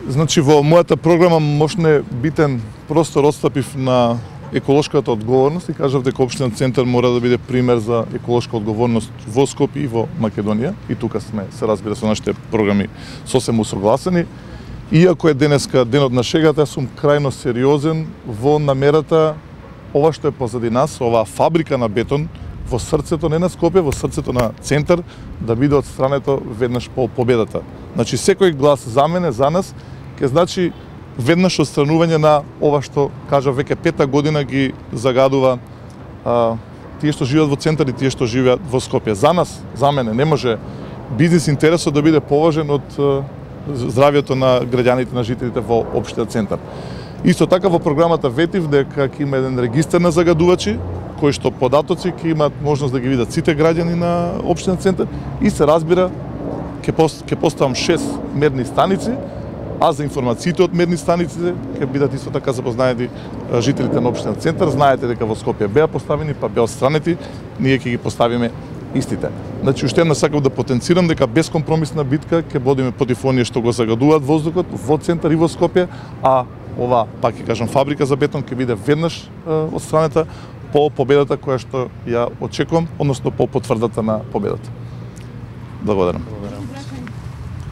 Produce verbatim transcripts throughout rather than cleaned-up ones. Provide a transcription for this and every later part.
Значи, во мојата програма мощне битен простор отстапив на еколошката одговорност и кажав дека општина Центар мора да биде пример за еколошка одговорност во Скопје и во Македонија. И тука сме, се разбира, со нашите програми сосем усогласени. Иако е денеска денот на шегата, сум крајно сериозен во намерата ова што е позади нас, оваа фабрика на бетон во срцето не на Скопје, во срцето на Центар, да биде отстрането веднаш по победата. Значи, секој глас за мене, за нас, ќе значи веднаш отстранување на ова што, кажа, веќе пета година ги загадува а, тие што живеат во Центар и тие што живеат во Скопје. За нас, за мене, не може бизнис интересот да биде поважен од а, здравието на граѓаните, на жителите во општина Центар. Исто така во програмата ветив дека ќе има еден регистар на загадувачи, кои што податоци ќе имаат можност да ги видат сите граѓани на општина Центар и се разбира ќе пост, ќе поставам шест мерни станици, а за информациите од мерни станиците ќе бидат исто така запознаени жителите на општина Центар. Знаете дека во Скопје беа поставени, па беа отстранети, ние ќе ги поставиме истите. Значи, уште една сакав да потенцирам дека безкомпромисна битка ќе водиме против оние што го загадуваат воздухот во Центар и во Скопје, а ова, пак ќе кажам, фабрика за бетон ќе биде веднаш отстранета по победата која што ја очекувам, односно по потврдата на победата. Благодарам.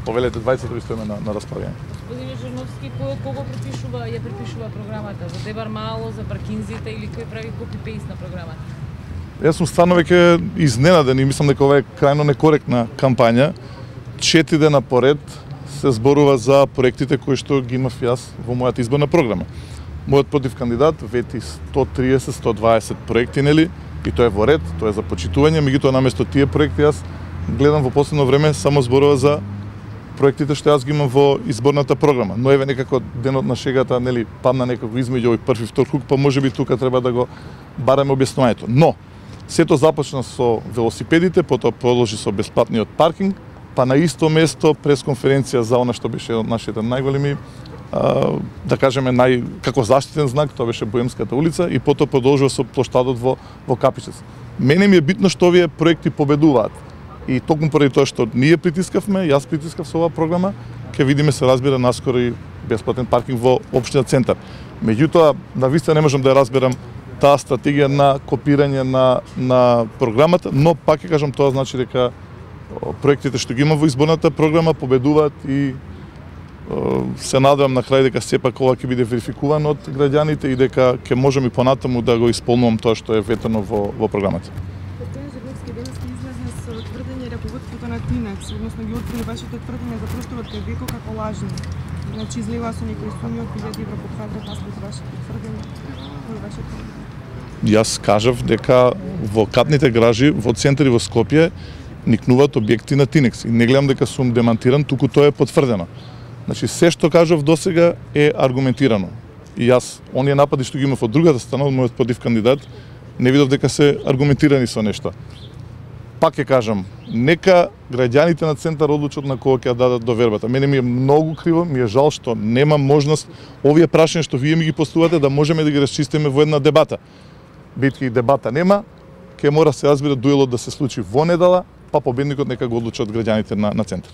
Повелете двајцето ви стоиме на, на располагање. Господине Жирновски, кој кого препишува, ја препишува програмата? За Дебар Мало, за паркинзите или кој прави копи-пейст на програмата? Јас сум стварно веќе изненаден и мислам дека ова е крајно некоректна кампања. Четири дена поред се зборува за проектите кои што ги имав јас во мојата изборна програма. Мојот против кандидат вети сто триесет до сто дваесет проекти, нели? И тоа е во ред, тоа е за почитување, меѓутоа наместо тие проекти јас гледам во последно време само зборува за проектите што јас ги имам во изборната програма. Но еве некако денот на шегата, нели, падна некако измеѓу овој први и втор круг, па можеби тука треба да го бараме објаснувањето. Но сето започна со велосипедите, потоа продолжи со бесплатниот паркинг, па на исто место пресконференција за она што беше од нашите најголеми, а, да кажеме, нај како заштитен знак, тоа беше Боемската улица, и потоа продолжува со плоштадот во во Капичец. Мене ми е битно што овие проекти победуваат. И токму поради тоа што ние притискавме, јас притискав со оваа програма, ќе видиме, се разбира, наскоро и бесплатен паркинг во општина Центар. Меѓутоа, навистина не можам да ја разберам таа стратегија на копирање на на програмата, но пак ќе кажам, тоа значи дека проектите што ги има во изборната програма победуваат и се надевам на крај дека сепак ова ќе биде верификувано од граѓаните и дека ќе можеме понатаму да го исполнувам тоа што е ветено во во програмата. На Тинекс, односно ги отвори вашите тврдења за просторот кај Беко како лажни. Значи, излива со некои суми од илјади евра под квадрат, а след вашите тврдења, кои вашите тврдења? Јас кажав дека во катните гражи во Центар и во Скопје никнуваат објекти на Тинекс. И не гледам дека сум демантиран, туку тоа е потврдено. Значи, се што кажав досега е аргументирано. И јас, оние напади што ги имав од другата страна, од мојот против кандидат, не видов дека се аргументирани со нешто. Пак ќе кажам, нека граѓаните на Центар одлучат на кого ќе ја дадат довербата. Мене ми е многу криво, ми е жал што нема можност овие прашања што вие ми ги постувате да можеме да ги расчистиме во една дебата. Бидејќи дебата нема, ќе мора се разбира дуелот да се случи во недела, па победникот нека го одлучат граѓаните на, на Центар.